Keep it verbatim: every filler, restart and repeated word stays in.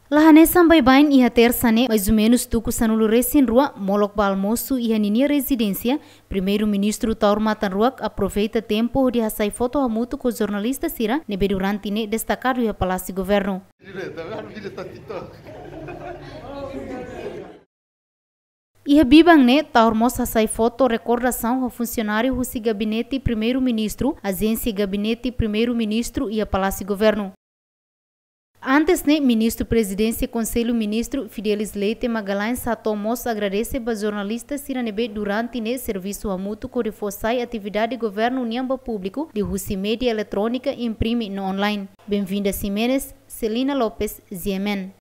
La hanesan baibain, iha Tersa ne'e, maizumenus tuku sanulu resin rua, molok ba almosu iha ninia rezidénsia, Primeiru-Ministru Taur Matan Ruak aproveita tempu hodi hasai foto hamutuk ho jornalista sira ne'ebé durante ne'e destakadu iha Palásiu Governu. Iha biban ne'e, Taur mós hasai foto rekordasaun ho funsionáriu husi Gabinete Primeiru-Ministru, Ajénsia Gabinete Primeiru-Ministru iha Palásiu Governu. Antes ne'e, Ministru Prezidénsia Konsellu Ministru, Fidelis Leite Magalhães, hato'o mós agradese ba jornalista sira ne'ebé durante ne'e servisu hamutuk hodi fó sai atividade governu nian ba públiku, liuhusi média eletrónika, imprime no online. Benvinda Ximenes, Celina Lopes, G M N.